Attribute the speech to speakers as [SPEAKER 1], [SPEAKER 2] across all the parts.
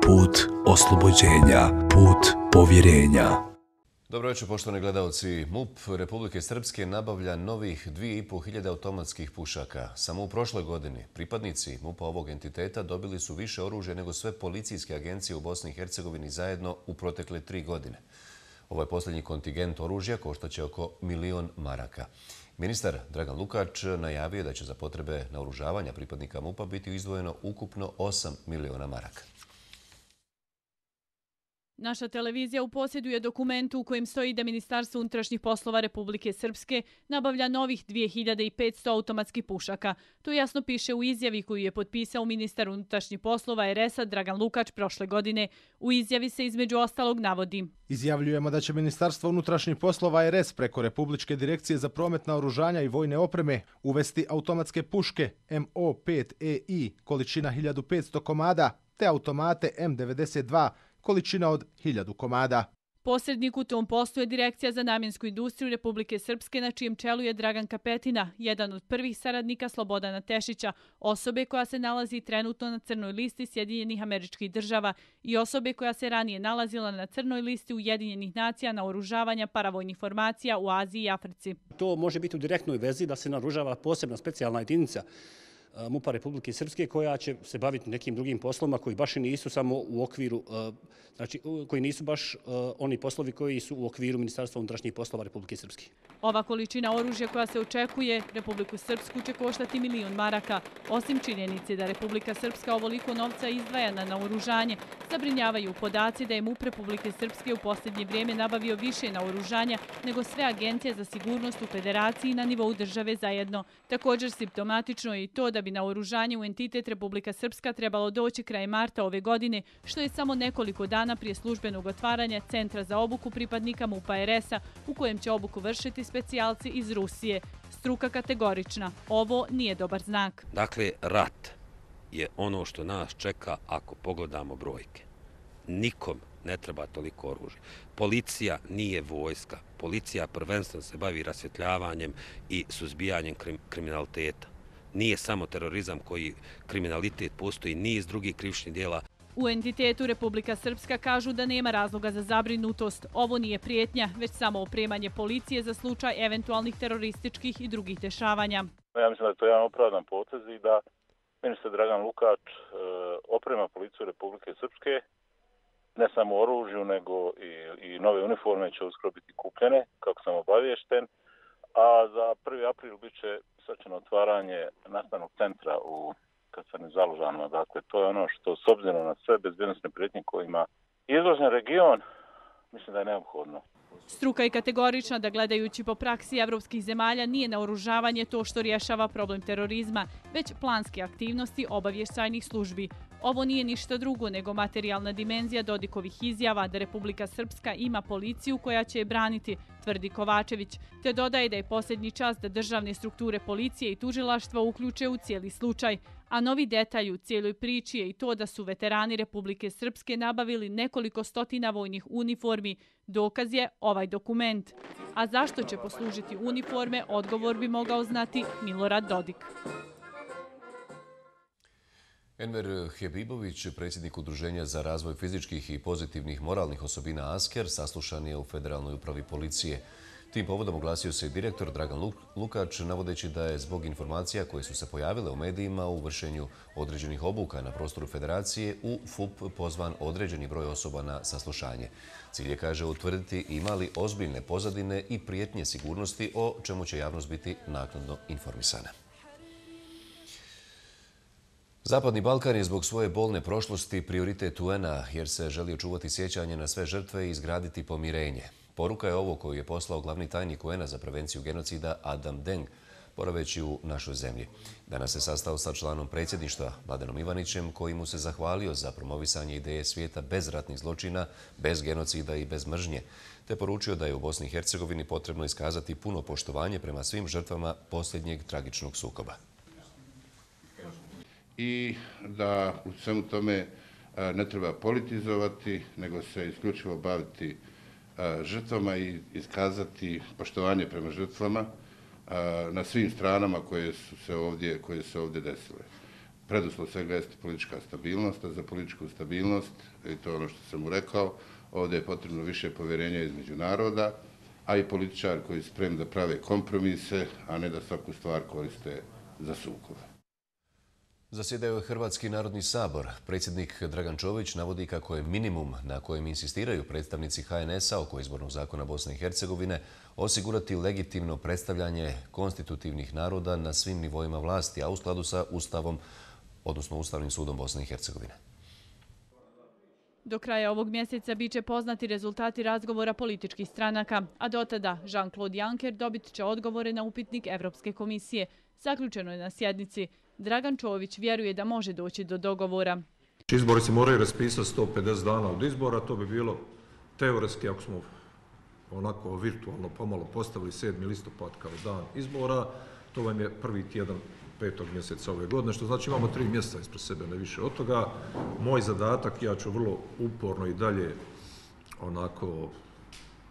[SPEAKER 1] put oslobođenja, put povjerenja.
[SPEAKER 2] Dobro večer, poštovani gledalci. MUP Republike Srpske nabavlja novih 2500 automatskih pušaka. Samo u prošloj godini pripadnici MUP-a ovog entiteta dobili su više oružja nego sve policijske agencije u Bosni i Hercegovini zajedno u protekle 3 godine. Ovaj posljednji kontingent oružja koštaće oko 1.000.000 maraka. Ministar Dragan Lukač najavio da će za potrebe naoružavanja pripadnika MUP-a biti izdvojeno ukupno 8 miliona maraka.
[SPEAKER 3] Naša televizija uposjeduje dokumentu u kojem stoji da Ministarstvo unutrašnjih poslova Republike Srpske nabavlja novih 2500 automatskih pušaka. To jasno piše u izjavi koju je potpisao ministar unutrašnjih poslova RS-a Dragan Lukač prošle godine. U izjavi se između ostalog navodi:
[SPEAKER 4] Izjavljujemo da će Ministarstvo unutrašnjih poslova RS preko Republičke direkcije za promet naoružanja i vojne opreme uvesti automatske puške MO5EI količina 1500 komada te automate M92 količina od 1000 komada.
[SPEAKER 3] Posrednik u tom poslu je Direkcija za namjensku industriju Republike Srpske, na čijem čelu je Dragan Kapetina, jedan od prvih saradnika Slobodana Tešića, osobe koja se nalazi trenutno na crnoj listi Sjedinjenih Američkih Država i osobe koja se ranije nalazila na crnoj listi Ujedinjenih nacija naoružavanja paravojnih formacija u Aziji i Africi.
[SPEAKER 5] To može biti u direktnoj vezi da se naoružava posebna specijalna jedinica MUP-a Republike Srpske koja će se baviti nekim drugim poslovima koji baš i nisu samo u okviru, znači koji nisu baš oni poslovi koji su u okviru Ministarstva unutrašnjih poslova Republike Srpske.
[SPEAKER 3] Ova količina oružja koja se očekuje Republiku Srpsku će koštati 1.000.000 maraka. Osim činjenice da Republika Srpska ovoliko novca izdvaja na naoružanje, zabrinjavaju podaci da je MUP Republike Srpske u posljednje vrijeme nabavio više naoružanja nego sve agencije za sigurnost u federaciji na nivou države zajedno. Također simptomatično je i to da bi naoružanje u entitet Republika Srpska trebalo doći krajem marta ove godine, što je samo nekoliko dana prije službenog otvaranja Centra za obuku pripadnika MUP-a RS-a, u kojem će obuku vršiti specijalci iz Rusije. Struka kategorična. Ovo nije dobar znak.
[SPEAKER 6] Dakle, rat je ono što nas čeka ako pogledamo brojke. Nikom ne treba toliko oružja. Policija nije vojska. Policija prvenstveno se bavi rasvjetljavanjem i suzbijanjem kriminaliteta. Nije samo terorizam koji kriminalitet, postoji niz drugih krivičnih djela.
[SPEAKER 3] U entitetu Republika Srpska kažu da nema razloga za zabrinutost. Ovo nije prijetnja, već samo opremanje policije za slučaj eventualnih terorističkih i drugih dešavanja.
[SPEAKER 7] Ja mislim da je to jedan opravdan potez i da ministar Dragan Lukač oprema policiju Republike Srpske, ne samo oružju, nego i nove uniforme će uskoro biti kupljene, kako sam obaviješten, a za 1. april bit će svečano otvaranje nastavnog centra u Kasarni Zalužanima. Dakle, to je ono što, s obzirom na sve bezbjednosne prijetnje kojima izložen region, mislim da je neophodno.
[SPEAKER 3] Struka je kategorična da, gledajući po praksi evropskih zemalja, nije naoružavanje to što rješava problem terorizma, već planske aktivnosti obavještajnih službi. Ovo nije ništa drugo nego materijalna dimenzija Dodikovih izjava da Republika Srpska ima policiju koja će je braniti, tvrdi Kovačević, te dodaje da je posljednji čas da državne strukture policije i tužilaštva uključe u cijeli slučaj. A novi detalj u cijeloj priči je i to da su veterani Republike Srpske nabavili nekoliko stotina vojnih uniformi. Dokaz je ovaj dokument. A zašto će poslužiti uniforme, odgovor bi mogao znati Milorad Dodik.
[SPEAKER 2] Enver Hebibović, predsjednik Udruženja za razvoj fizičkih i pozitivnih moralnih osobina ASKER, saslušan je u Federalnoj upravi policije. Tim povodom oglasio se i direktor Dragan Lukač, navodeći da je zbog informacija koje su se pojavile u medijima u vršenju određenih obuka na prostoru federacije u FUP pozvan određeni broj osoba na saslušanje. Cilj je, kaže, utvrditi ima li ozbiljne pozadine i prijetnje sigurnosti, o čemu će javnost biti naknadno informisana. Zapadni Balkan je zbog svoje bolne prošlosti prioritet UN-a jer se želi očuvati sjećanje na sve žrtve i izgraditi pomirenje. Poruka je ovo koju je poslao glavni tajnik UN-a za prevenciju genocida Adam Deng, boraveći u našoj zemlji. Danas se sastao sa članom predsjedništva Mladenom Ivanićem, koji mu se zahvalio za promovisanje ideje svijeta bez ratnih zločina, bez genocida i bez mržnje, te poručio da je u Bosni i Hercegovini potrebno iskazati puno poštovanje prema svim žrtvama posljednjeg tragičnog sukoba.
[SPEAKER 8] I da u svemu tome ne treba politizovati, nego se isključivo baviti žrtvama i iskazati poštovanje prema žrtvama na svim stranama koje su se ovdje desile. Preduslov svega jeste politička stabilnost, a za političku stabilnost, i to je ono što sam mu rekao, ovdje je potrebno više povjerenja između naroda, a i političari koji su spremni da prave kompromise, a ne da svaku stvar koriste za sukobe.
[SPEAKER 2] Zasjedaju Hrvatski narodni sabor. Predsjednik Dragan Čović navodi kako je minimum na kojem insistiraju predstavnici HNS-a oko izbornog zakona Bosne i Hercegovine osigurati legitimno predstavljanje konstitutivnih naroda na svim nivoima vlasti, a u skladu sa Ustavom, odnosno Ustavnim sudom Bosne i Hercegovine.
[SPEAKER 3] Do kraja ovog mjeseca biće poznati rezultati razgovora političkih stranaka, a do tada Jean-Claude Juncker dobit će odgovore na upitnik Evropske komisije. Zaključeno je na sjednici. Dragan Čović vjeruje da može doći do dogovora.
[SPEAKER 9] Izbori se moraju raspisati 150 dana od izbora, to bi bilo teoretski, ako smo onako virtualno pomalo postavili 7. listopad kao dan izbora, to vam je prvi tjedan 5. mjeseca ove godine, što znači imamo 3 mjeseca ispred sebe, ne više od toga. Moj zadatak, ja ću vrlo uporno i dalje onako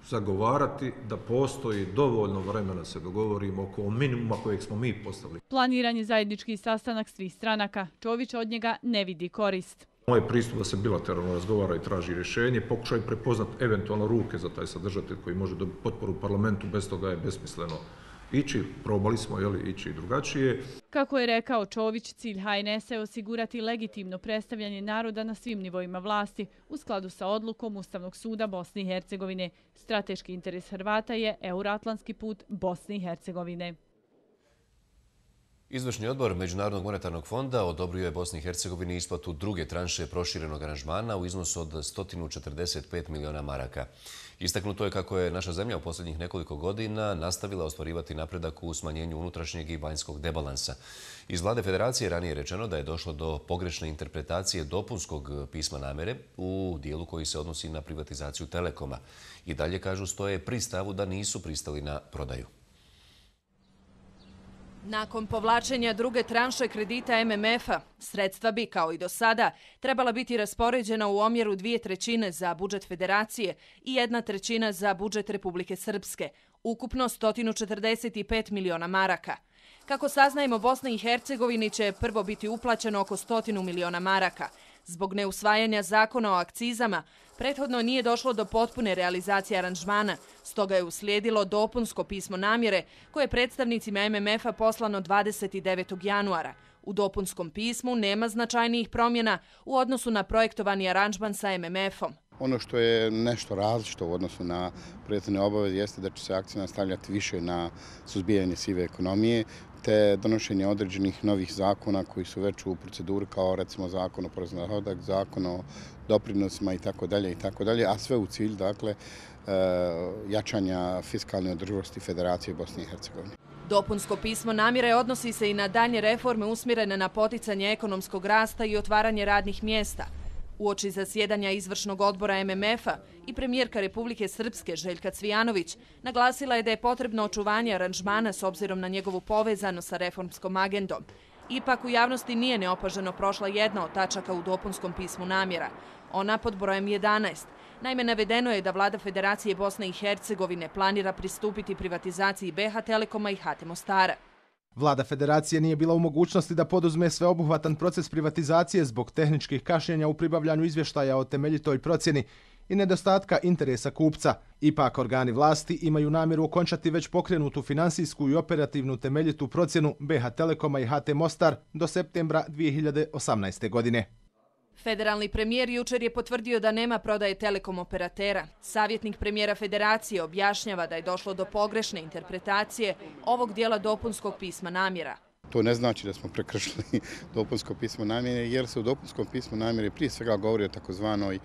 [SPEAKER 9] zagovarati da postoji dovoljno vremena se dogovorimo oko minimuma kojeg smo mi postavili.
[SPEAKER 3] Planiran je zajednički sastanak svih stranaka. Čović od njega ne vidi korist.
[SPEAKER 9] Moj pristup da se bilateralno razgovara i traži rješenje, pokušaj prepoznati eventualno ruke za taj sadržatelj koji može dobiti potporu u parlamentu, bez toga je besmisleno ići, probali smo ići drugačije.
[SPEAKER 3] Kako je rekao Čović, cilj HNS-a je osigurati legitimno predstavljanje naroda na svim nivoima vlasti u skladu sa odlukom Ustavnog suda Bosne i Hercegovine. Strateški interes Hrvata je euroatlantski put Bosne i Hercegovine.
[SPEAKER 2] Izvršni odbor Međunarodnog monetarnog fonda odobrio je Bosni i Hercegovini isplatu druge tranše proširenog aranžmana u iznosu od 145 miliona maraka. Istaknuto je kako je naša zemlja u posljednjih nekoliko godina nastavila ostvarivati napredak u smanjenju unutrašnjeg i vanjskog debalansa. Iz Vlade Federacije ranije je rečeno da je došlo do pogrešne interpretacije dopunskog pisma namjere u dijelu koji se odnosi na privatizaciju Telekoma. I dalje, kažu, stoje pri stavu da nisu pristali na prodaju.
[SPEAKER 10] Nakon povlačenja druge tranše kredita MMF-a, sredstva bi, kao i do sada, trebala biti raspoređena u omjeru 2/3 za budžet Federacije i 1/3 za budžet Republike Srpske, ukupno 145 miliona maraka. Kako saznajemo, Bosni i Hercegovini će prvo biti uplaćeno oko 100 miliona maraka. Zbog neusvajanja zakona o akcizama, prethodno nije došlo do potpune realizacije aranžmana, stoga je uslijedilo dopunsko pismo namjere koje je predstavnicima MMF-a poslano 29. januara. U dopunskom pismu nema značajnijih promjena u odnosu na projektovani aranžman sa MMF-om.
[SPEAKER 11] Ono što je nešto različito u odnosu na prethodne obaveze jeste da će se akcija stavljati više na suzbijanje sive ekonomije, te donošenje određenih novih zakona koji su već u proceduri, kao recimo zakon o porezu na dohodak, zakon o doprinosima itd., a sve u cilju, dakle, jačanja fiskalne održivosti Federacije Bosne i Hercegovine.
[SPEAKER 10] Dopunsko pismo namjere odnosi se i na dalje reforme usmjerene na poticanje ekonomskog rasta i otvaranje radnih mjesta. Uoči zasjedanja izvršnog odbora MMF-a i premijerka Republike Srpske Željka Cvijanović naglasila je da je potrebno očuvanje aranžmana s obzirom na njegovu povezanost sa reformskom agendom. Ipak u javnosti nije neopaženo prošla jedna od tačaka u dopunskom pismu namjera. Ona pod brojem 11. Naime, navedeno je da Vlada Federacije Bosne i Hercegovine planira pristupiti privatizaciji BH Telekoma i HT Mostara.
[SPEAKER 4] Vlada Federacije nije bila u mogućnosti da poduzme sveobuhvatan proces privatizacije zbog tehničkih kašnjenja u pribavljanju izvještaja o temeljitoj procjeni i nedostatka interesa kupca. Ipak organi vlasti imaju namjeru okončati već pokrenutu finansijsku i operativnu temeljitu procjenu BH Telekoma i HT Mostar do septembra 2018. godine.
[SPEAKER 10] Federalni premijer jučer je potvrdio da nema prodaje telekom operatera. Savjetnik premijera Federacije objašnjava da je došlo do pogrešne interpretacije ovog dijela dopunskog pisma namjera.
[SPEAKER 11] To ne znači da smo prekršili dopunsko pismo namjere, jer se u dopunskom pismu namjere prije svega govori o takozvanoj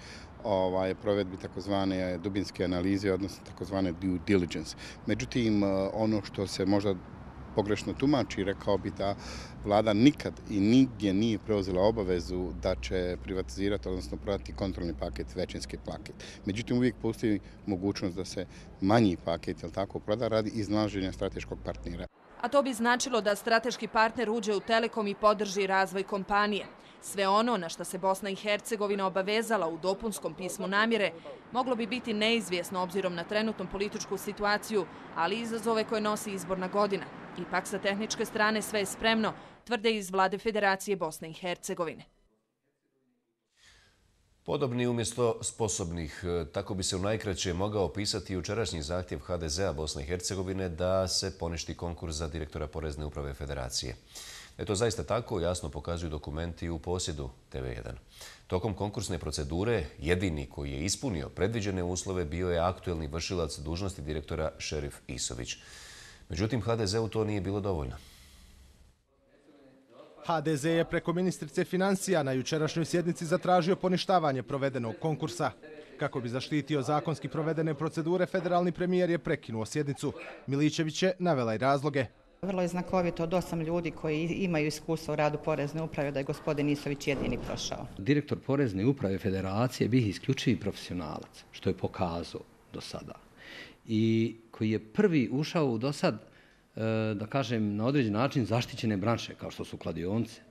[SPEAKER 11] provedbi takozvane dubinske analize, odnosno takozvane due diligence. Međutim, ono što se možda pogrešno tumači, rekao bi da vlada nikad i nigdje nije preuzela obavezu da će privatizirati, odnosno prodati kontrolni paket, većinski paket. Međutim, uvijek postoji mogućnost da se manji paket, proda radi iznalaženja strateškog partnera.
[SPEAKER 10] A to bi značilo da strateški partner uđe u Telekom i podrži razvoj kompanije. Sve ono na što se Bosna i Hercegovina obavezala u dopunskom pismu namjere moglo bi biti neizvjesno obzirom na trenutnu političku situaciju, ali i izazove koje nosi izborna godina. Ipak sa tehničke strane sve je spremno, tvrde iz vlade Federacije Bosne i Hercegovine.
[SPEAKER 2] Podobni umjesto sposobnih, tako bi se u najkraće mogao opisati jučerašnji zahtjev HDZ-a Bosne i Hercegovine da se poništi konkurs za direktora Porezne uprave Federacije. Da je to zaista tako, jasno pokazuju dokumenti u posjedu TV1. Tokom konkursne procedure, jedini koji je ispunio predviđene uslove bio je aktuelni vršilac dužnosti direktora Šerif Isović. Međutim, HDZ-u to nije bilo dovoljno.
[SPEAKER 4] HDZ je preko ministrice financija na jučerašnjoj sjednici zatražio poništavanje provedenog konkursa. Kako bi zaštitio zakonski provedene procedure, federalni premijer je prekinuo sjednicu. Miličević je navela i razloge.
[SPEAKER 12] Vrlo je znakovito od 8 ljudi koji imaju iskustvo u radu Porezne uprave da je gospodin Isović jedini prošao.
[SPEAKER 13] Direktor Porezne uprave Federacije bih isključivi profesionalac, što je pokazao do sada. I koji je prvi ušao u do sad, da kažem, na određen način zaštićene branše, kao što su kladionice,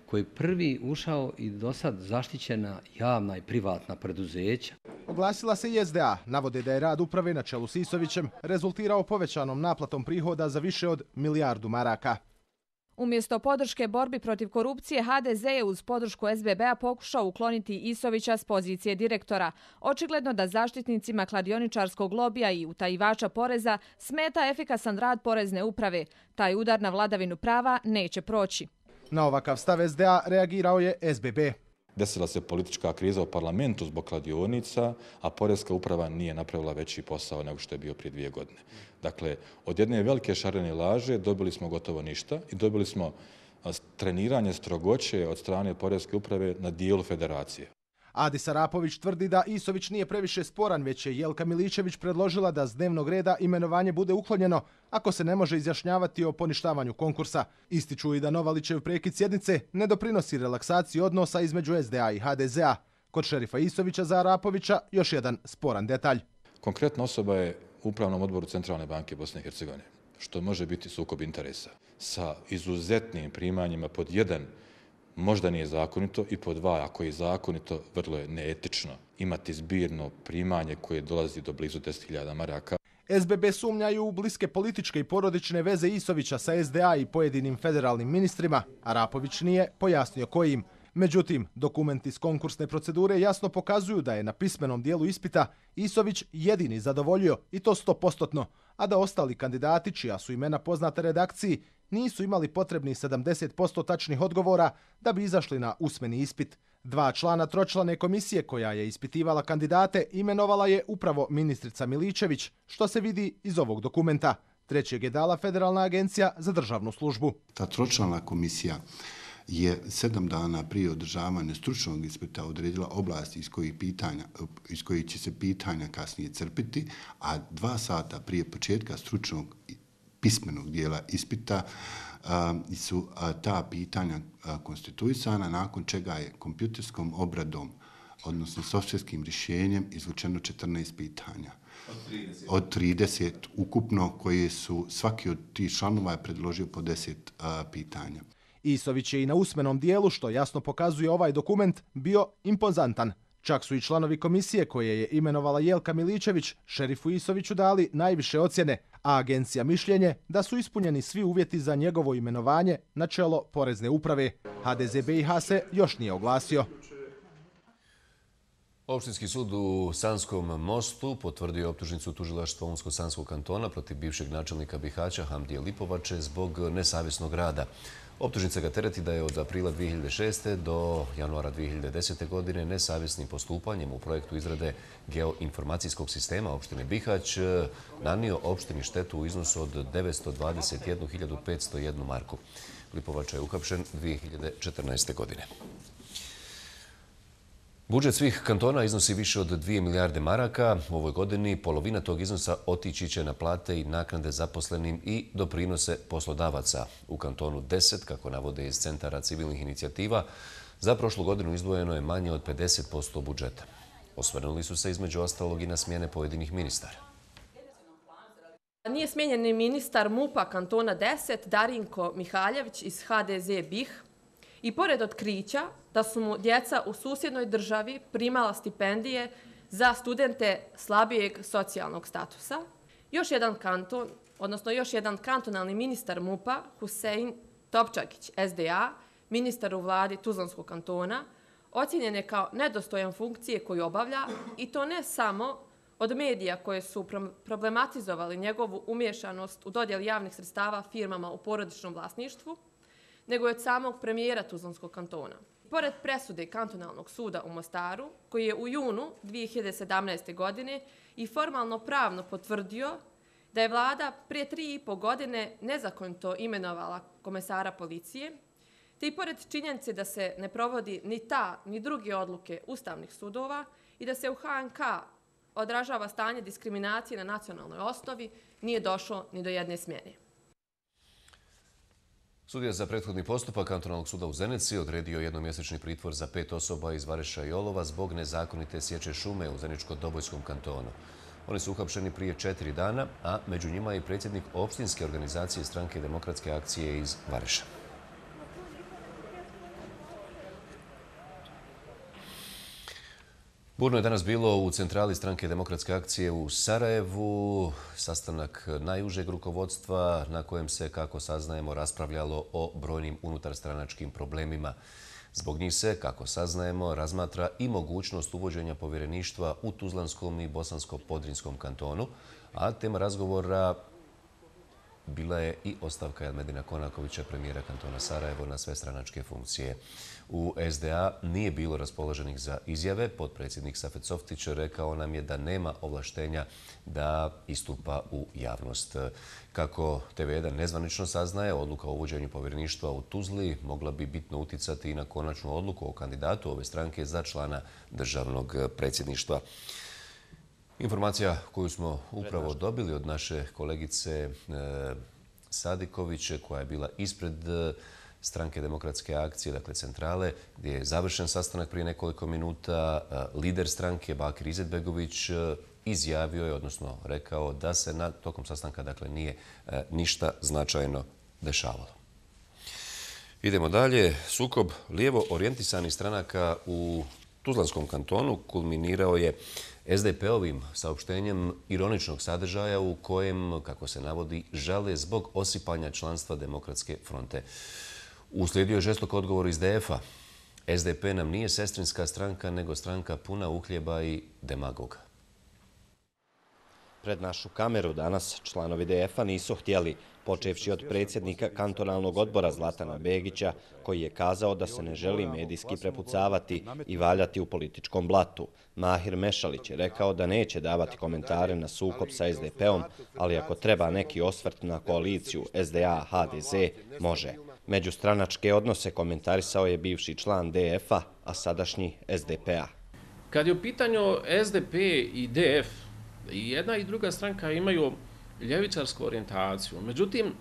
[SPEAKER 13] koji je prvi ušao i do sad zaštićena javna i privatna preduzeća.
[SPEAKER 4] Oglasila se i SDA, navode da je rad uprave na čelu s Isovićem rezultirao povećanom naplatom prihoda za više od milijardu maraka.
[SPEAKER 14] Umjesto podrške borbi protiv korupcije, HDZ je uz podršku SBB-a pokušao ukloniti Isovića s pozicije direktora. Očigledno da zaštitnicima kladioničarskog lobija i utajivača poreza smeta efikasan rad Porezne uprave. Taj udar na vladavinu prava neće proći.
[SPEAKER 4] Na ovakav stav SDA reagirao je SBB.
[SPEAKER 15] Desila se politička kriza u parlamentu zbog kladionica, a Porezka uprava nije napravila veći posao nego što je bio prije 2 godine. Dakle, od jedne velike šarene laže dobili smo gotovo ništa i dobili smo treniranje strogoće od strane Porezke uprave na dijelu federacije.
[SPEAKER 4] Adis Arapović tvrdi da Isović nije previše sporan, već je Jelka Miličević predložila da s dnevnog reda imenovanje bude uklonjeno ako se ne može izjašnjavati o poništavanju konkursa. Ističu i da Novalićev prekid sjednice ne doprinosi relaksaciji odnosa između SDA i HDZ-a. Kod šerifa Isovića za Arapovića još jedan sporan detalj.
[SPEAKER 15] Konkretna osoba je u Upravnom odboru Centralne banke Bosne i Hercegovine, što može biti sukob interesa sa izuzetnim primanjima. Pod 1, možda nije zakonito, i pod 2, ako je zakonito, vrlo je neetično imati zbirno primanje koje dolazi do blizu 10.000 maraka.
[SPEAKER 4] SBB sumnjaju u bliske političke i porodične veze Isovića sa SDA i pojedinim federalnim ministrima. Arapović nije pojasnio kojim. Međutim, dokumenti iz konkursne procedure jasno pokazuju da je na pismenom dijelu ispita Isović jedini zadovoljio, i to 100%, a da ostali kandidati, čija su imena poznata redakciji, nisu imali potrebnih 70% tačnih odgovora da bi izašli na usmeni ispit. 2 člana tročlane komisije koja je ispitivala kandidate imenovala je upravo ministrica Miličević, što se vidi iz ovog dokumenta. 3. je dala Federalna agencija za državnu službu.
[SPEAKER 16] Ta tročlana komisija je 7 dana prije održavanja stručnog ispita odredila oblasti iz kojih će se pitanja kasnije crpiti, a 2 sata prije početka stručnog pismenog dijela ispita su ta pitanja konstituisana, nakon čega je kompjuterskom obradom, odnosno softverskim rješenjem, izvučeno 14 pitanja. Od 30 ukupno, koje su svaki od tih članova predložio po 10 pitanja.
[SPEAKER 4] Isović je i na usmenom dijelu, što jasno pokazuje ovaj dokument, bio impozantan. Čak su i članovi komisije koje je imenovala Jelka Miličević šerifu Isoviću dali najviše ocjene, a agencija mišljenje da su ispunjeni svi uvjeti za njegovo imenovanje na čelo Porezne uprave. HDZ BiH se još nije oglasio.
[SPEAKER 2] Opštinski sud u Sanskom Mostu potvrdio optužnicu tužilaštva Unsko-Sanskog kantona protiv bivšeg načelnika Bihaća Hamdije Lipovače zbog nesavjesnog rada. Optužnica ga tereti da je od aprila 2006. do januara 2010. godine nesavjesnim postupanjem u projektu izrade geoinformacijskog sistema opštine Bihać nanio opštini štetu u iznosu od 921.501 marku. Lipovača je uhapšen 2014. godine. Budžet svih kantona iznosi više od 2 milijarde maraka. U ovoj godini polovina tog iznosa otići će na plate i naknade zaposlenim i doprinose poslodavaca. U kantonu 10, kako navode iz Centara civilnih inicijativa, za prošlu godinu izdvojeno je manje od 50% budžeta. Osvrnuli su se između ostalog i na smjene pojedinih ministara.
[SPEAKER 17] Nije smijenjen ni ministar MUP-a kantona 10, Darinko Mihaljević iz HDZ BiH. I pored otkrića da su mu djeca u susjednoj državi primala stipendije za studente slabijeg socijalnog statusa, još jedan kantonalni ministar MUP-a, Husein Topčagić, SDA, ministar u vladi Tuzlanskog kantona, ocjenjen je kao nedostojan funkcije koju obavlja i to ne samo od medija koje su problematizovali njegovu umješanost u dodjeli javnih sredstava firmama u porodičnom vlasništvu, nego je od samog premijera Tuzlanskog kantona. Pored presude Kantonalnog suda u Mostaru, koji je u junu 2017. godine i formalno pravno potvrdio da je vlada prije 3,5 godine nezakonito imenovala komesara policije, te i pored činjenice da se ne provodi ni ta ni druge odluke ustavnih sudova i da se u HNK odražava stanje diskriminacije na nacionalnoj osnovi, nije došlo ni do jedne smjene.
[SPEAKER 2] Sudija za prethodni postupak Kantonalnog suda u Zenici odredio jednomjesečni pritvor za 5 osoba iz Vareša i Olova zbog nezakonite sječe šume u Zeničko-Dobojskom kantonu. Oni su uhapšeni prije 4 dana, a među njima je i predsjednik opštinske organizacije Stranke demokratske akcije iz Vareša. Burno je danas bilo u centrali Stranke demokratske akcije u Sarajevu. Sastanak najužeg rukovodstva na kojem se, kako saznajemo, raspravljalo o brojnim unutarstranačkim problemima. Zbog njih se, kako saznajemo, razmatra i mogućnost uvođenja povjereništva u Tuzlanskom i Bosansko-Podrinskom kantonu, a tema razgovora bila je i ostavka Elmedina Konakovića, premijera kantona Sarajevo, na sve stranačke funkcije. U SDA nije bilo raspoloženih za izjave. Potpredsjednik Safet Softić rekao nam je da nema ovlaštenja da istupa u javnost. Kako TV1 nezvanično saznaje, odluka o uvođenju povjereništva u Tuzli mogla bi bitno uticati i na konačnu odluku o kandidatu ove stranke za člana državnog predsjedništva. Informacija koju smo upravo dobili od naše kolegice Sadiković, koja je bila ispred Stranke demokratske akcije, dakle centrale, gdje je završen sastanak prije nekoliko minuta, lider stranke Bakir Izetbegović izjavio je, odnosno rekao, da se tokom sastanka dakle nije ništa značajno dešavalo. Idemo dalje. Sukob lijevo orijentisanih stranaka u Tuzlanskom kantonu kulminirao je SDP-ovim saopštenjem ironičnog sadržaja u kojem, kako se navodi, žale zbog osipanja članstva Demokratske fronte. Uslijedio je žestok odgovor iz DF-a. SDP nam nije sestrinska stranka, nego stranka puna uhljeba i demagoga.
[SPEAKER 18] Pred našu kameru danas članovi DF-a nisu htjeli, počevši od predsjednika kantonalnog odbora Zlatana Begića, koji je kazao da se ne želi medijski prepucavati i valjati u političkom blatu. Mahir Mešalić je rekao da neće davati komentare na sukob sa SDP-om, ali ako treba neki osvrt na koaliciju SDA-HDZ, može. Međustranačke odnose komentarisao je bivši član DF-a, a sadašnji SDP-a.
[SPEAKER 19] Kad je u pitanju SDP i DF, i jedna i druga stranka imaju ljevičarsku orijentaciju. Međutim,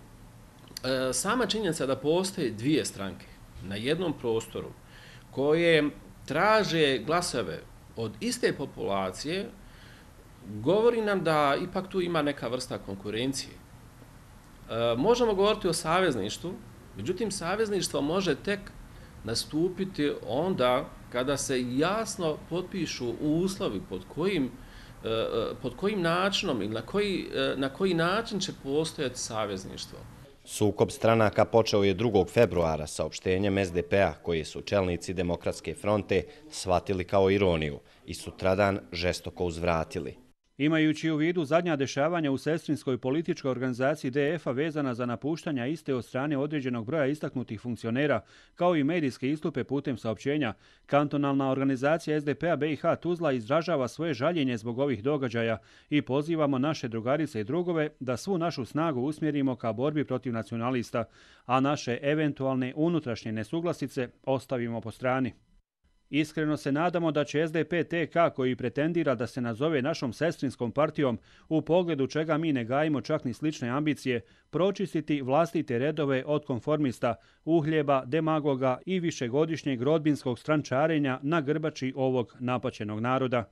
[SPEAKER 19] sama činjenica da postoje dvije stranke na jednom prostoru koje traže glasove od iste populacije, govori nam da ipak tu ima neka vrsta konkurencije. Možemo govoriti o savezništvu, međutim, savezništvo može tek nastupiti onda kada se jasno potpišu uslovi pod kojim načinom ili na koji način će postojati savezništvo.
[SPEAKER 18] Sukob stranaka počeo je 2. februara saopštenjem SDP-a, koji su čelnici Demokratske fronte shvatili kao ironiju i sutradan žestoko uzvratili.
[SPEAKER 20] Imajući u vidu zadnja dešavanja u sestrinskoj političkoj organizaciji DF-a vezana za napuštanja iste od strane određenog broja istaknutih funkcionera, kao i medijske istupe putem saopćenja, kantonalna organizacija SDP-a BiH Tuzla izražava svoje žaljenje zbog ovih događaja i pozivamo naše drugarice i drugove da svu našu snagu usmjerimo ka borbi protiv nacionalista, a naše eventualne unutrašnje nesuglasice ostavimo po strani. Iskreno se nadamo da će SDP-TK, koji pretendira da se nazove našom sestrinskom partijom, u pogledu čega mi ne gajimo čak ni slične ambicije, pročistiti vlastite redove od konformista, uhljeba, demagoga i višegodišnjeg rodbinskog strančarenja na grbači ovog napaćenog naroda.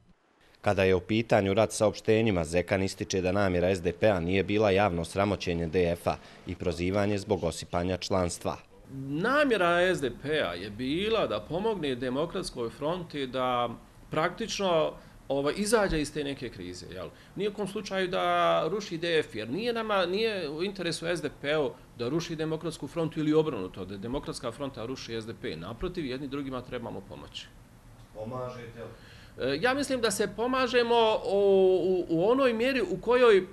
[SPEAKER 18] Kada je u pitanju rad saopštenjima, Zekan ističe da namjera SDP-a nije bila javno sramoćenje DF-a i prozivanje zbog osipanja članstva.
[SPEAKER 19] Namjera SDP-a je bila da pomogne Demokratskoj fronti da praktično izađe iz te neke krize. Nijekom slučaju da ruši DF, jer nije u interesu SDP-u da ruši Demokratsku frontu ili obrnuto, da Demokratska fronta ruši SDP. Naprotiv, jedni drugima trebamo pomoći.
[SPEAKER 2] Pomažete li?
[SPEAKER 19] Ja mislim da se pomažemo u onoj mjeri u kojoj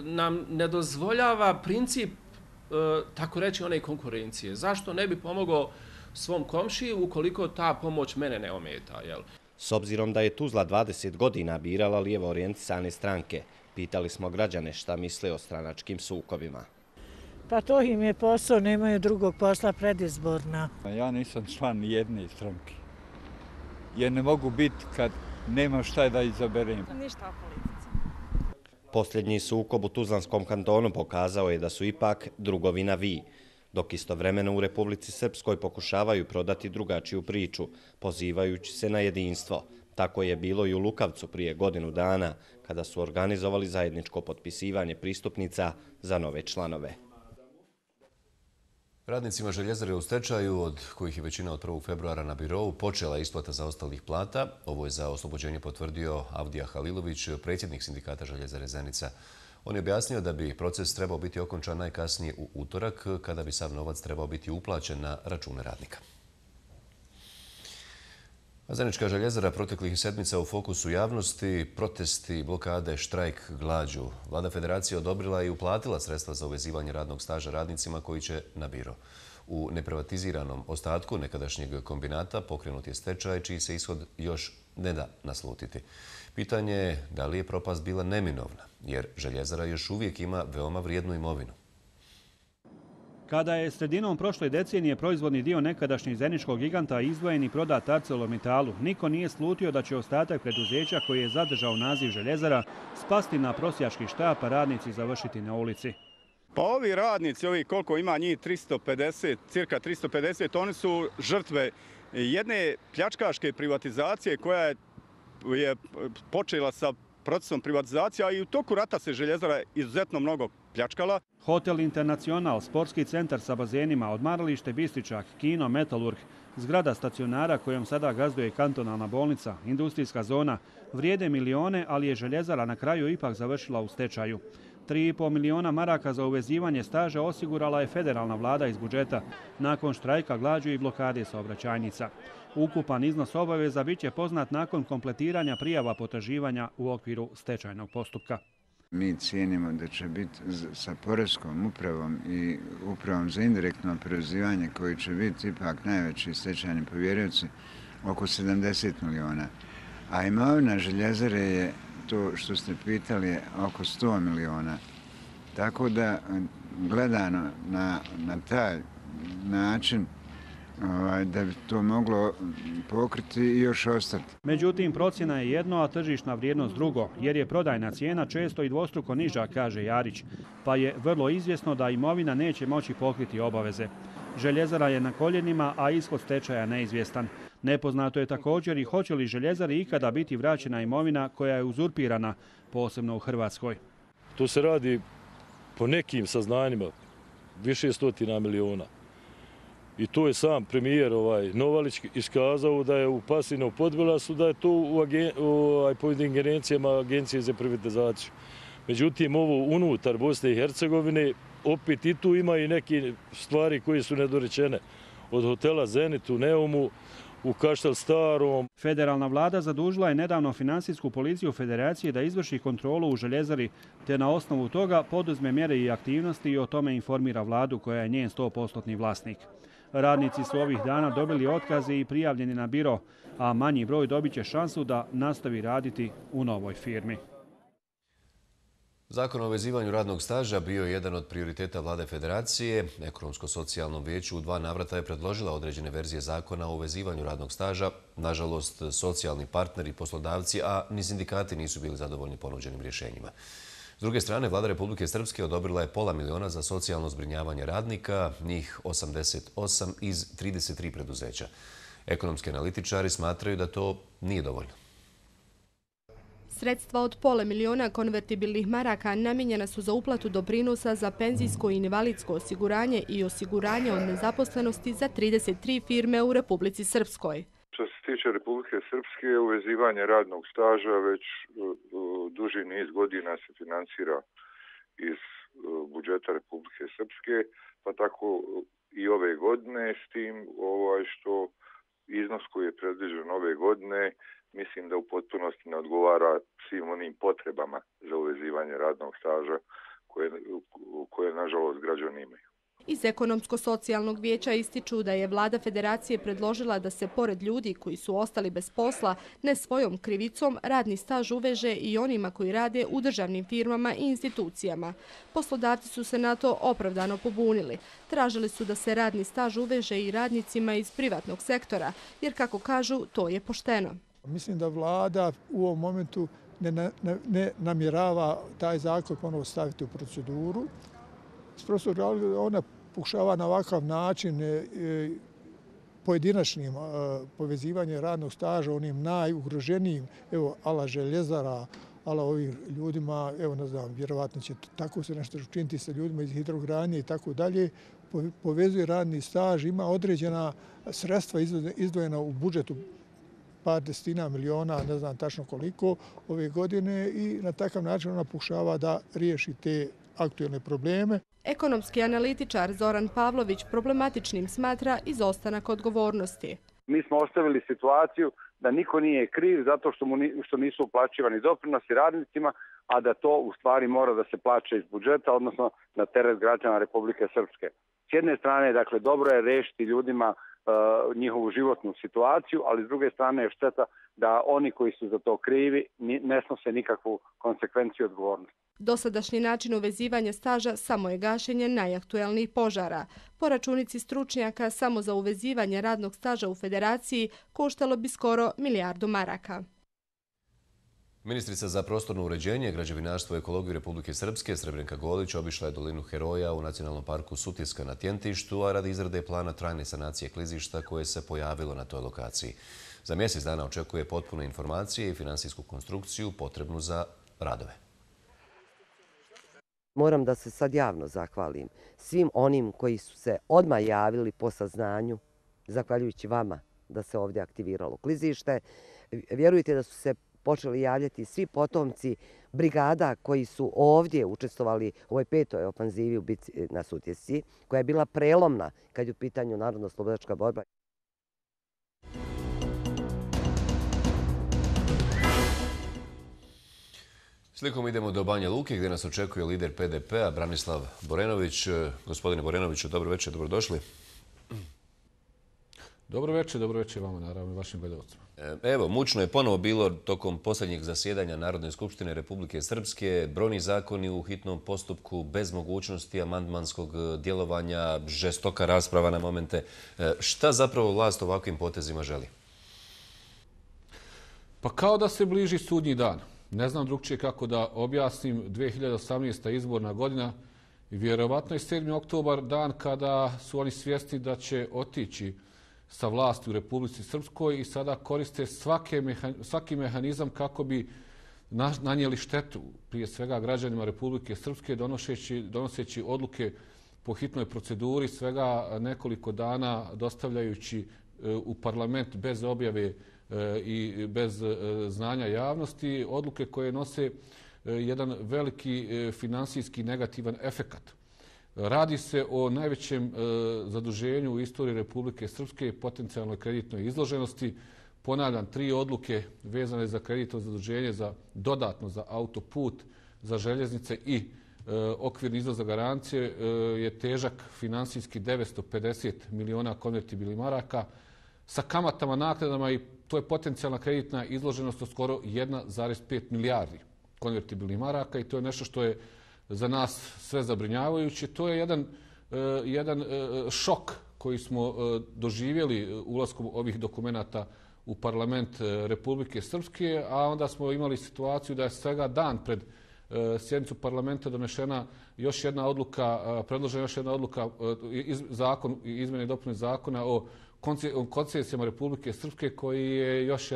[SPEAKER 19] nam ne dozvoljava princip, tako reći, one konkurencije. Zašto ne bi pomogao svom komšiji ukoliko ta pomoć mene ne ometa, jel?
[SPEAKER 18] S obzirom da je Tuzla 20 godina birala lijevo orijentisane stranke, pitali smo građane šta misle o stranačkim sukobima.
[SPEAKER 21] Pa to im je posao, nemaju drugog posla predizborna.
[SPEAKER 22] Ja nisam član jedne stranke, jer ne mogu biti kad nemam šta da izaberem.
[SPEAKER 21] Ništa o politici.
[SPEAKER 18] Posljednji sukob u Tuzlanskom kantonu pokazao je da su ipak drugovi na vi, dok istovremeno u Republici Srpskoj pokušavaju prodati drugačiju priču, pozivajući se na jedinstvo. Tako je bilo i u Lukavcu prije godinu dana, kada su organizovali zajedničko potpisivanje pristupnica za nove članove.
[SPEAKER 2] Radnicima željezare u stečaju, od kojih je većina od 1. februara na birovu, počela isplata zaostalih plata. Ovo je za oslobođenje potvrdio Avdija Halilović, predsjednik sindikata željezare Zenica. On je objasnio da bi proces trebao biti okončan najkasnije u utorak, kada bi sav novac trebao biti uplaćen na račune radnika. Zenička željezara proteklih sedmica u fokusu javnosti, protesti, blokade, štrajk, glađu. Vlada Federacije odobrila i uplatila sredstva za uvezivanje radnog staža radnicima koji će na biro. U neprivatiziranom ostatku nekadašnjeg kombinata pokrenut je stečaj, čiji se ishod još ne da naslutiti. Pitanje je da li je propast bila neminovna, jer željezara još uvijek ima veoma vrijednu imovinu.
[SPEAKER 20] Kada je sredinom prošle decenije proizvodni dio nekadašnjeg zeničkog giganta izdvojen i prodat ArcelorMittalu, niko nije slutio da će ostatak preduzeća koji je zadržao naziv željezara spasti na prosjački štap, a radnici završiti na ulici.
[SPEAKER 23] Pa ovi radnici, koliko ima njih, 350, cirka 350, oni su žrtve jedne pljačkaške privatizacije koja je počela sa procesom privatizacije, a i u toku rata se željezara izuzetno mnogo pljačkala.
[SPEAKER 20] Hotel Internacional, sportski centar sa bazenima, odmaralište Bistričak, kino Metalurg, zgrada stacionara kojom sada gazduje kantonalna bolnica, industrijska zona, vrijede milione, ali je željezara na kraju ipak završila u stečaju. 3,5 miliona maraka za uvezivanje staža osigurala je federalna vlada iz budžeta nakon štrajka, glađu i blokade saobraćajnica. Ukupan iznos obaveza bit će poznat nakon kompletiranja prijava potraživanja u okviru stečajnog postupka.
[SPEAKER 24] Mi cijenimo da će biti sa Poreskom upravom i upravom za indirektno oporezivanje, koji će biti ipak najveći stečajni povjerioci, oko 70 miliona. A imovina željezare je, to što ste pitali, je oko 100 miliona. Tako da, gledano na taj način, da bi to moglo pokriti i još ostati.
[SPEAKER 20] Međutim, procjena je jedno, a tržišna vrijednost drugo, jer je prodajna cijena često i dvostruko niža, kaže Jarić, pa je vrlo izvjesno da imovina neće moći pokriti obaveze. Željezara je na koljenima, a ishod stečaja neizvjestan. Nepoznato je također i hoće li željezari ikada biti vraćena imovina koja je uzurpirana, posebno u Hrvatskoj.
[SPEAKER 25] Tu se radi po nekim saznanjima više stotina miliona. I tu je sam premijer Novalić iskazao da je u pasivnom podbilasu, da je to pod ingerencijama Agencije za privatizaciju. Međutim, ovo unutar Bosne i Hercegovine, opet i tu ima i neke stvari koje su nedorečene. Od hotela Zenit u Neumu, u Kaštel Starom.
[SPEAKER 20] Federalna vlada zadužila je nedavno Finansijsku policiju Federacije da izvrši kontrolu u željezari, te na osnovu toga poduzme mjere i aktivnosti i o tome informira vladu koja je njen 100% vlasnik. Radnici su ovih dana dobili otkaze i prijavljeni na biro, a manji broj dobit će šansu da nastavi raditi u novoj firmi.
[SPEAKER 2] Zakon o uvezivanju radnog staža bio je jedan od prioriteta Vlade Federacije. Ekonomsko-socijalnom vijeću u 2 navrata je predložila određene verzije zakona o uvezivanju radnog staža. Nažalost, socijalni partneri, poslodavci, a ni sindikati nisu bili zadovoljni ponuđenim rješenjima. S druge strane, Vlada Republike Srpske odobrila je $500 miliona za socijalno zbrinjavanje radnika, njih 88 iz 33 preduzeća. Ekonomski analitičari smatraju da to nije dovoljno.
[SPEAKER 26] Sredstva od $500 miliona konvertibilnih maraka namijenjena su za uplatu doprinosa za penzijsko i invalidsko osiguranje i osiguranje od nezaposlenosti za 33 firme u Republici Srpskoj.
[SPEAKER 1] Što se tiče Republike Srpske, uvezivanje radnog staža već duži niz godina se finansira iz budžeta Republike Srpske, pa tako i ove godine, s tim što iznos koji je predviđen ove godine mislim da u potpunosti ne odgovara svim onim potrebama za uvezivanje radnog staža koje nažalost građani imaju.
[SPEAKER 26] Iz Ekonomsko-socijalnog vijeća ističu da je vlada federacije predložila da se pored ljudi koji su ostali bez posla ne svojom krivicom radni staž uveže i onima koji rade u državnim firmama i institucijama. Poslodavci su se na to opravdano pobunili. Tražili su da se radni staž uveže i radnicima iz privatnog sektora, jer kako kažu, to je pošteno.
[SPEAKER 5] Mislim da vlada u ovom momentu ne namjerava taj zakon ponovo staviti u proceduru. Ona pokušava na ovakav način pojedinačnim povezivanje radnog staža onim najugroženijim, evo, ala željezara, ala ovih ljudima, evo, ne znam, vjerovatno će tako se nešto učiniti sa ljudima iz hidrogradnje i tako dalje, povezuje radni staž, ima određena sredstva izdvojena u budžetu, par desetina miliona, ne znam tačno koliko, ove godine i na takav način ona pokušava da riješi te aktualne probleme.
[SPEAKER 26] Ekonomski analitičar Zoran Pavlović problematičnim smatra izostanak odgovornosti.
[SPEAKER 6] Mi smo ostavili situaciju da niko nije kriv zato što nisu uplaćivani doprinosi radnicima, a da to u stvari mora da se plaća iz budžeta, odnosno na teret građana Republike Srpske. S jedne strane, dakle, dobro je rešiti ljudima njihovu životnu situaciju, ali s druge strane je šteta da oni koji su za to krivi ne snose nikakvu konsekvenciju odgovornosti.
[SPEAKER 26] Dosadašnji način uvezivanja staža samo je gašenje najaktuelnijih požara. Po računici stručnjaka, samo za uvezivanje radnog staža u federaciji koštalo bi skoro 1 milijardu maraka.
[SPEAKER 2] Ministrica za prostorno uređenje, građevinarstvo i ekologiju Republike Srpske Srebrenka Golić obišla je dolinu Heroja u Nacionalnom parku Sutjeska na Tjentištu, a radi izrade plana trajne sanacije klizišta koje se pojavilo na toj lokaciji. Za mjesec dana očekuje potpune informacije i finansijsku konstrukciju potrebnu za radove.
[SPEAKER 7] Moram da se sad javno zahvalim svim onim koji su se odmah javili po saznanju, zahvaljujući vama, da se ovdje aktiviralo klizište. Vjerujte da su se počeli javljati svi potomci brigada koji su ovdje učestvovali u ovoj 5. ofanzivi u bitci na Sutjesci, koja je bila prelomna kad je u pitanju narodno-slobodačka borba.
[SPEAKER 2] Slikom idemo do Banja Luke gdje nas očekuje lider PDP-a Branislav Borenović. Gospodine Borenoviću, dobro večer, dobrodošli.
[SPEAKER 8] Dobro večer vama, naravno, i vašim gledalcima.
[SPEAKER 2] Evo, mučno je ponovo bilo tokom posljednjeg zasjedanja Narodne skupštine Republike Srpske. Brojni zakoni u hitnom postupku, bez mogućnosti amandmanskog djelovanja, žestoka rasprava na momente. Šta zapravo vlast ovakvim potezima želi?
[SPEAKER 8] Pa kao da se bliži sudnji dan. Ne znam drugčije kako da objasnim, 2018. izborna godina i vjerovatno je 7. oktobar dan kada su oni svjesni da će otići sa vlasti u Republici Srpskoj i sada koriste svaki mehanizam kako bi nanijeli štetu, prije svega građanima Republike Srpske, donoseći odluke po hitnoj proceduri, svega nekoliko dana dostavljajući u parlament bez objave i bez znanja javnosti, odluke koje nose jedan veliki finansijski negativan efekat. Radi se o najvećem zaduženju u istoriji Republike Srpske, potencijalnoj kreditnoj izloženosti. Ponavljam, 3 odluke vezane za kreditno zaduženje dodatno za autoput, za željeznice i okvirni iznos za garancije je težak finansijski 950 miliona konvertibilnih maraka sa kamatama, naknadama i to je potencijalna kreditna izloženost od skoro 1,5 milijardi konvertibilnih maraka i to je nešto što je za nas sve zabrinjavajuće. To je jedan šok koji smo doživjeli ulaskom ovih dokumenata u parlament Republike Srpske, a onda smo imali situaciju da je svega dan pred sjednicu parlamenta donešena još jedna odluka, predložena još jedna odluka, zakon, izmjene i dopune zakona o koncesijama Republike Srpske, koji je još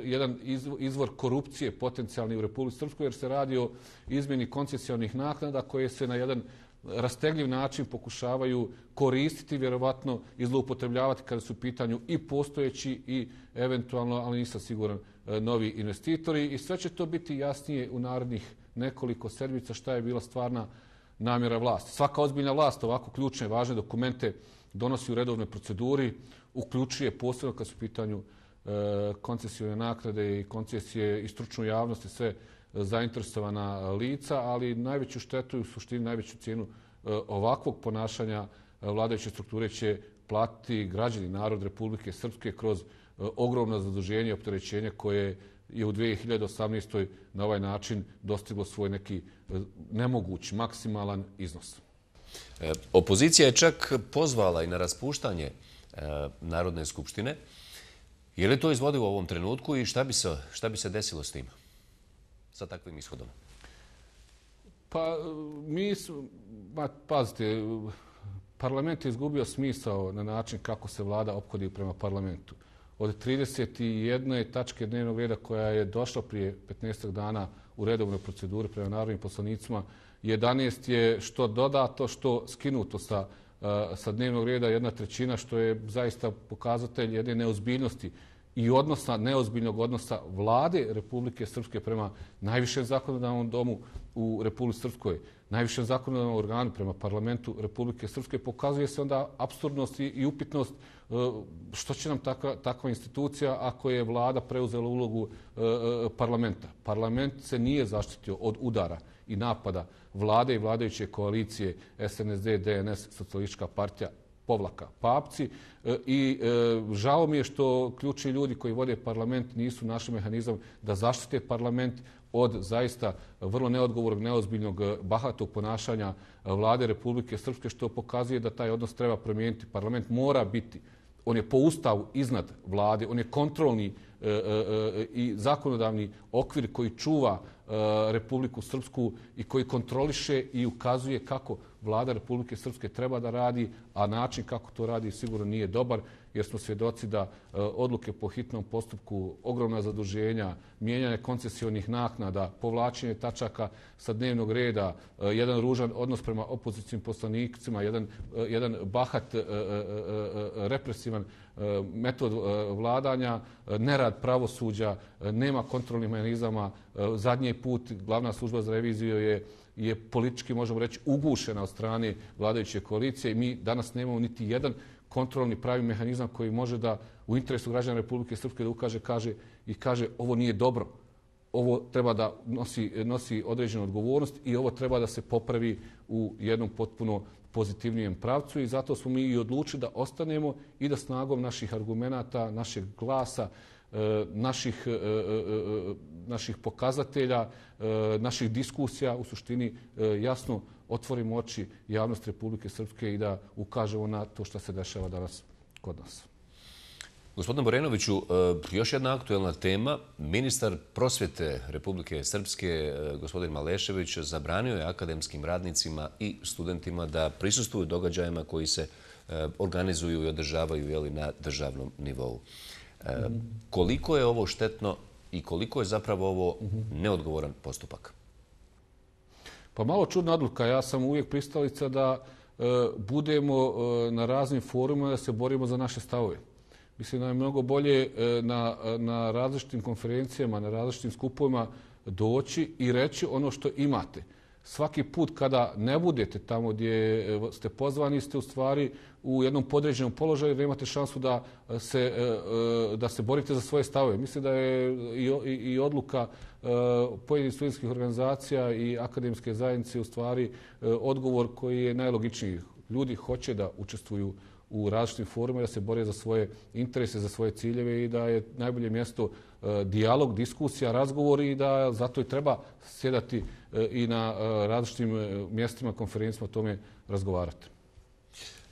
[SPEAKER 8] jedan izvor korupcije potencijalni u Republici Srpskoj, jer se radi o izmjeni koncesijonih naknada koje se na jedan rastegljiv način pokušavaju koristiti, vjerovatno i zloupotrebljavati kada su u pitanju i postojeći i eventualno, ali nisam siguran, novi investitori. I sve će to biti jasnije u narednih nekoliko sedmica šta je bila stvarna namjera vlasti. Svaka ozbiljna vlast ovako ključne, važne dokumente donosi u redovnoj proceduri, uključuje posebno kad su u pitanju koncesijone naknade i koncesije i stručnu javnost i sve zainteresovana lica, ali najveću štetu i u suštini najveću cijenu ovakvog ponašanja vladajuće strukture će platiti građani, narod Republike Srpske kroz ogromno zaduženje i opterećenje koje je u 2018. na ovaj način dostiglo svoj neki nemoguć, maksimalan iznos.
[SPEAKER 2] Opozicija je čak pozvala i na raspuštanje Narodne skupštine. Je li to izvodilo u ovom trenutku i šta bi se desilo s tim? Sa takvim ishodom?
[SPEAKER 8] Pa pazite, parlament je izgubio smisao na način kako se vlada ophodi prema parlamentu. Od 31. tačke dnevnog reda koja je došla prije 15 dana u redovnoj proceduri prema narodnim poslanicima, 11 je što dodato, što skinuto sa dnevnog reda, 1/3, što je zaista pokazatelj jedne neozbiljnosti i neozbiljnog odnosa vlade Republike Srpske prema najvišem zakonodavnom domu u Republici Srpskoj, najvišem zakonodavnom organu prema parlamentu Republike Srpske. Pokazuje se onda apsurdnost i upitnost što će nam takva institucija ako je vlada preuzela ulogu parlamenta. Parlament se nije zaštitio od udara i napada vlade i vladajuće koalicije SNSD, DNS, Socijalistička partija, Papci. I žao mi je što ključni ljudi koji vode parlament nisu našli mehanizam da zaštite parlament od zaista vrlo neodgovornog, neozbiljnog, bahatog ponašanja vlade Republike Srpske, što pokazuje da taj odnos treba promijeniti. Parlament mora biti, on je po ustavu iznad vlade, on je kontrolni i zakonodavni okvir koji čuva Republiku Srpsku i koji kontroliše i ukazuje kako vlada Republike Srpske treba da radi, a način kako to radi sigurno nije dobar, jer smo svjedoci da odluke po hitnom postupku, ogromna zaduženja, mijenjanje koncesijonih naknada, povlačenje tačaka sa dnevnog reda, jedan ružan odnos prema opozicijnim poslanicima, jedan bahat, represivan metod vladanja, nerad pravosuđa, nema kontrolnih mehanizama. Zadnji put glavna služba za reviziju je politički, možemo reći, ugušena od strane vladajuće koalicije i mi danas nemamo niti jedan kontrolni pravi mehanizam koji može da u interesu građana Republike Srpske da ukaže kaže ovo nije dobro, ovo treba da nosi određenu odgovornost i ovo treba da se popravi u jednom potpuno pozitivnijem pravcu i zato smo mi i odlučili da ostanemo i da snagom naših argumenata, našeg glasa, naših pokazatelja, naših diskusija u suštini jasno otvorimo oči javnosti Republike Srpske i da ukažemo na to što se dešava danas kod nas.
[SPEAKER 2] Gospodine Borenoviću, još jedna aktuelna tema. Ministar prosvjete Republike Srpske, gospodin Malešević, zabranio je akademskim radnicima i studentima da prisustvuju događajima koji se organizuju i održavaju na državnom nivou. Koliko je ovo štetno i koliko je zapravo ovo neodgovoran postupak?
[SPEAKER 8] Pa malo čudna odluka. Ja sam uvijek pristalica da budemo na raznim forumima da se borimo za naše stavove. Mislim da je mnogo bolje na različitim konferencijama, na različitim skupovima doći i reći ono što imate. Svaki put kada ne budete tamo gdje ste pozvani, ste u stvari u jednom podređenom položaju da imate šansu da se borite za svoje stavove. Mislim da je i odluka pojedinih studentskih organizacija i akademske zajednice u stvari odgovor koji je najlogičniji. Ljudi hoće da učestvuju u različitim forumima, da se bore za svoje interese, za svoje ciljeve i da je najbolje mjesto dijalog, diskusija, razgovori i da zato i treba sjedati i na različitim mjestima, konferencijama o tome razgovarati.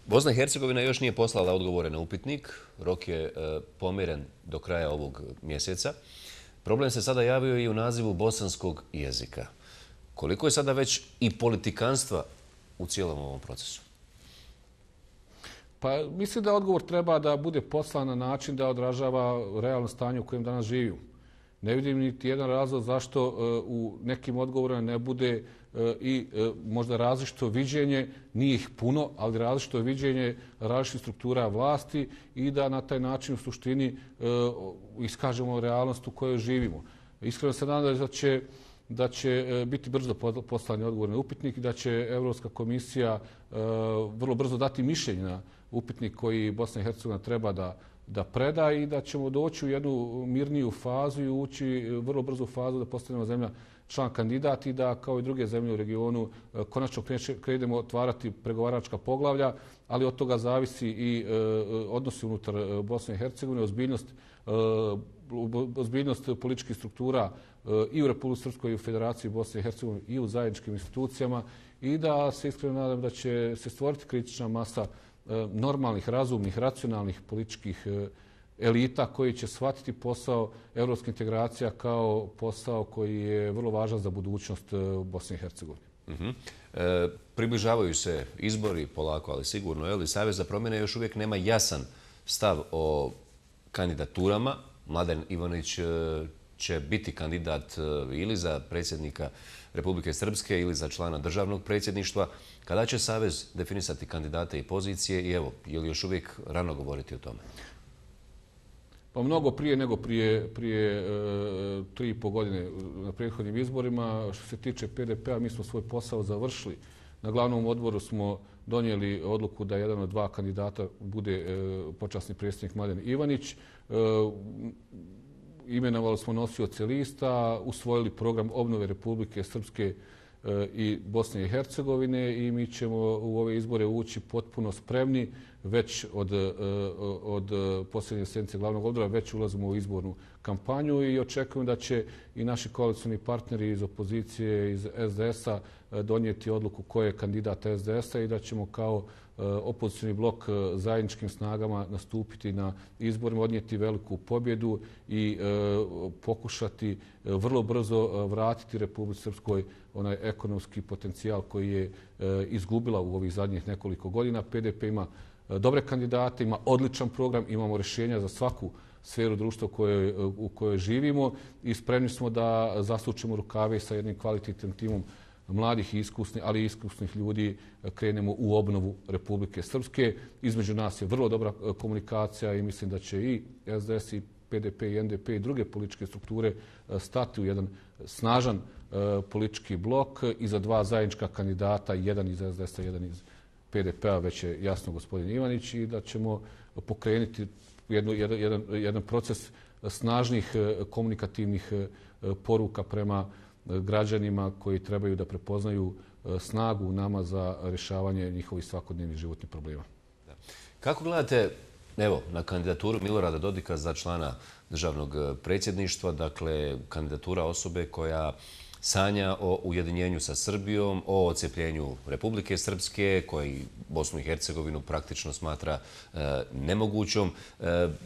[SPEAKER 2] Bosna i Hercegovina još nije poslala odgovore na upitnik. Rok je pomjeren do kraja ovog mjeseca. Problem se sada javio i u nazivu bosanskog jezika. Koliko je sada već i politikanstva u cijelom ovom procesu?
[SPEAKER 8] Pa mislim da odgovor treba da bude poslan na način da odražava realno stanje u kojem danas živimo. Ne vidim niti jedan razlog zašto u nekim odgovorima ne bude i možda različito viđenje, nije ih puno, ali različito viđenje različitih struktura vlasti i da na taj način u suštini iskažemo realnost u kojoj živimo. Iskreno se nadam da će biti brzo poslani odgovor na upitnik i da će Evropska komisija vrlo brzo dati mišljenje na upitnik koji Bosna i Hercegovina treba da preda i da ćemo doći u jednu mirniju fazu i ući vrlo brzo u fazu da postanemo zemlja član kandidat i da kao i druge zemlje u regionu konačno krenemo otvarati pregovaračka poglavlja, ali od toga zavisi i odnosi unutar Bosne i Hercegovine, ozbiljnost političkih struktura i u Republici Srpskoj i u Federaciji Bosne i Hercegovine i u zajedničkim institucijama i da se iskreno nadam da će se stvoriti kritična masa normalnih, razumnih, racionalnih političkih elita koji će shvatiti posao evropske integracija kao posao koji je vrlo važan za budućnost Bosne i Hercegovine.
[SPEAKER 2] Približavaju se izbori polako, ali sigurno. Savez za promjene još uvijek nema jasan stav o kandidaturama. Mladen Ivanić će biti kandidat ili za predsjednika Republike Srpske ili za člana državnog predsjedništva. Kada će Savez definisati kandidate i pozicije i evo, je li još uvijek rano govoriti o tome?
[SPEAKER 8] Pa mnogo prije nego prije 3,5 godine na prethodnim izborima. Što se tiče PDP-a, mi smo svoj posao završili. Na glavnom odboru smo donijeli odluku da jedan od dva kandidata bude počasni predsjednik Mladen Ivanić. Imenovali smo nosioce lista, usvojili program obnove Republike Srpske i Bosne i Hercegovine i mi ćemo u ove izbore ući potpuno spremni. Već od posljednje sjednice glavnog odbora već ulazimo u izbornu kampanju i očekujem da će i naši koalicioni partneri iz opozicije, iz SDS-a donijeti odluku ko je kandidat SDS-a i da ćemo kao opozicioni blok zajedničkim snagama nastupiti na izborima, odnijeti veliku pobjedu i pokušati vrlo brzo vratiti Republici Srpskoj onaj ekonomski potencijal koji je izgubila u ovih zadnjih nekoliko godina. PDP ima dobre kandidate, ima odličan program, imamo rješenja za svaku sferu društva u kojoj živimo i spremni smo da zasučemo rukave sa jednim kvalitetnim timom mladih i iskusnih, ali i iskusnih ljudi krenemo u obnovu Republike Srpske. Između nas je vrlo dobra komunikacija i mislim da će i SDS i PDP i NDP i druge političke strukture stati u jedan snažan politički blok i za dva zajednička kandidata, jedan iz SDS-a, jedan iz PDP-a, već je jasno gospodin Ivanić, i da ćemo pokrenuti jedan proces snažnih komunikativnih poruka prema građanima koji trebaju da prepoznaju snagu u nama za rješavanje njihovih svakodnevnih životnih problema.
[SPEAKER 2] Kako gledate na kandidaturu Milorada Dodika za člana državnog predsjedništva, dakle kandidatura osobe koja sanja o ujedinjenju sa Srbijom, o odcepljenju Republike Srpske, koji Bosnu i Hercegovinu praktično smatra nemogućom.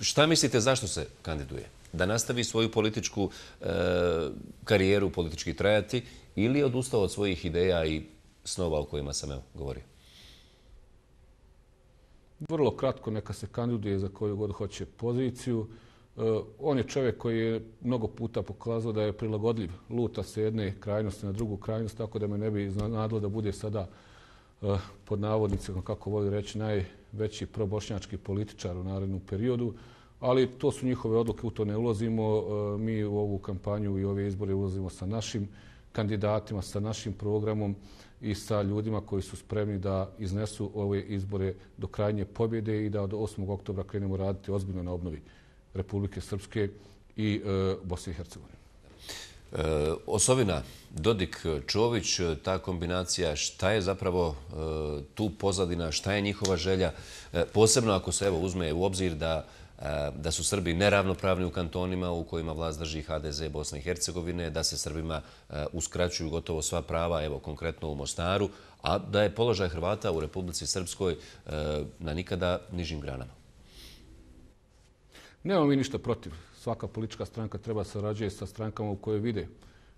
[SPEAKER 2] Šta mislite zašto se kandiduje? Da nastavi svoju političku karijeru, politički trajati, ili je odustao od svojih ideja i snova o kojima sam govorio?
[SPEAKER 8] Vrlo kratko, neka se kandiduje za koju god hoće poziciju. On je čovjek koji je mnogo puta pokazao da je prilagodljiv. Luta se jedne krajnosti na drugu krajnost, tako da me ne bi iznenadilo da bude sada pod navodnicima, kako voli reći, najveći probošnjački političar u narednom periodu. Ali to su njihove odluke, u to ne ulazimo. Mi u ovu kampanju i ove izbore ulazimo sa našim kandidatima, sa našim programom i sa ljudima koji su spremni da iznesu ove izbore do krajnje pobjede i da od 8. oktobra krenemo raditi ozbiljno na obnovi Republike Srpske i Bosne i Hercegovine.
[SPEAKER 2] Osovina, Dodik, Čović, ta kombinacija, šta je zapravo tu pozadina, šta je njihova želja, posebno ako se uzme u obzir da su Srbi neravnopravni u kantonima u kojima vlast drži HDZ Bosne i Hercegovine, da se Srbima uskraćuju gotovo sva prava, konkretno u Mostaru, a da je položaj Hrvata u Republici Srpskoj na nikada nižim granama.
[SPEAKER 8] Nemamo mi ništa protiv. Svaka politička stranka treba sarađuje sa strankama u kojoj vide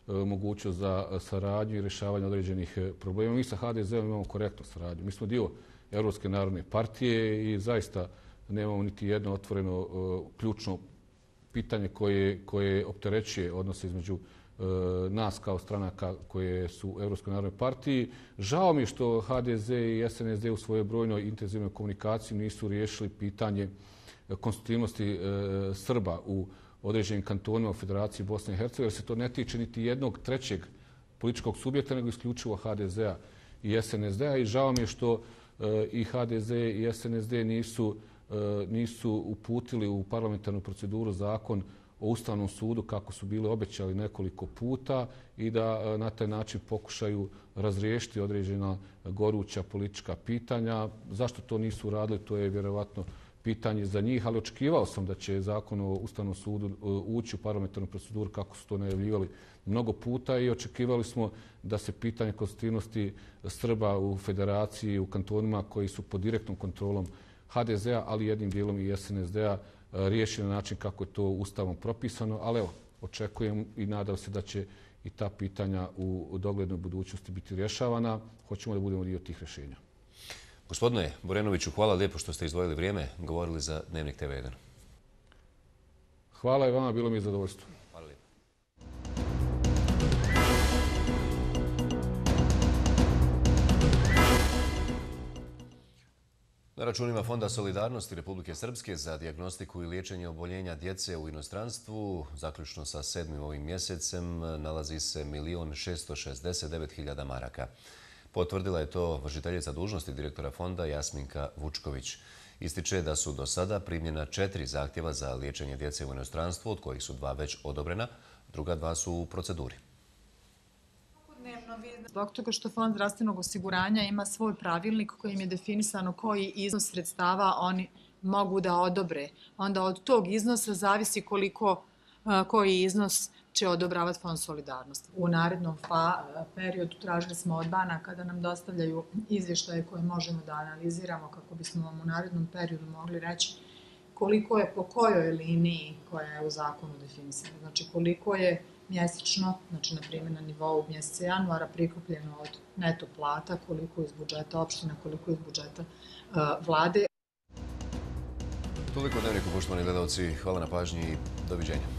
[SPEAKER 8] mogućnost za saradnju i rješavanje određenih problema. Mi sa HDZ-om imamo korektnu saradnju. Mi smo dio Evropske narodne partije i zaista nemamo niti jedno otvoreno ključno pitanje koje opterećuje odnose između nas kao stranaka koje su u Europskoj narodnoj partiji. Žao mi je što HDZ i SNSD u svojoj brojnoj intenzivnoj komunikaciji nisu riješili pitanje konstitutivnosti Srba u određenim kantonima u Federaciji Bosne i Hercegovine, jer se to ne tiče niti jednog trećeg političkog subjekta, nego isključivo HDZ-a i SNSD-a. I žao mi je što i HDZ i SNSD nisu uputili u parlamentarnu proceduru zakon o Ustavnom sudu kako su bili obećali nekoliko puta i da na taj način pokušaju razriješiti određena goruća politička pitanja. Zašto to nisu uradili, to je vjerovatno pitanje za njih, ali očekivao sam da će zakon o Ustavnom sudu ući u parlamentarnu proceduru kako su to najavljivali mnogo puta i očekivali smo da se pitanje konstitutivnosti Srba u federaciji, u kantonima koji su pod direktnom kontrolom HDZ-a, ali jednim dijelom i SNSD-a riješi na način kako je to Ustavom propisano. Ali evo, očekujem i nadam se da će i ta pitanja u doglednoj budućnosti biti rješavana. Hoćemo da budemo dio tih rješenja.
[SPEAKER 2] Gospodine Borenoviću, hvala lijepo što ste izdvojili vrijeme, govorili za Dnevnik TV1.
[SPEAKER 8] Hvala i vama, bilo mi je zadovoljstvo.
[SPEAKER 2] Hvala lijepo. Na računima Fonda solidarnosti Republike Srpske za dijagnostiku i liječenje oboljenja djece u inostranstvu, zaključno sa 7. ovim mjesecem, nalazi se 1.669.000 maraka. Potvrdila je to vršiteljica dužnosti direktora fonda Jasminka Vučković. Ističe da su do sada primljena 4 zahtjeva za liječenje djece u inostranstvu, od kojih su 2 već odobrena, druga 2 su u proceduri.
[SPEAKER 3] Zbog toga što Fond zdravstvenog osiguranja ima svoj pravilnik kojim je definisano koji iznos sredstava oni mogu da odobre. Onda od tog iznosa zavisi koji iznos će odobravati Fond solidarnosti. U narednom periodu tražili smo od banaka da nam dostavljaju izvještaje koje možemo da analiziramo kako bismo vam u narednom periodu mogli reći koliko je po kojoj liniji koja je u zakonu definisana. Znači koliko je mjesečno, znači na primjer na nivou mjeseca januara prikupljeno od neto plata, koliko iz budžeta opština, koliko iz budžeta vlade.
[SPEAKER 2] Toliko Dnevniku, poštovani gledalci. Hvala na pažnji i doviđenja.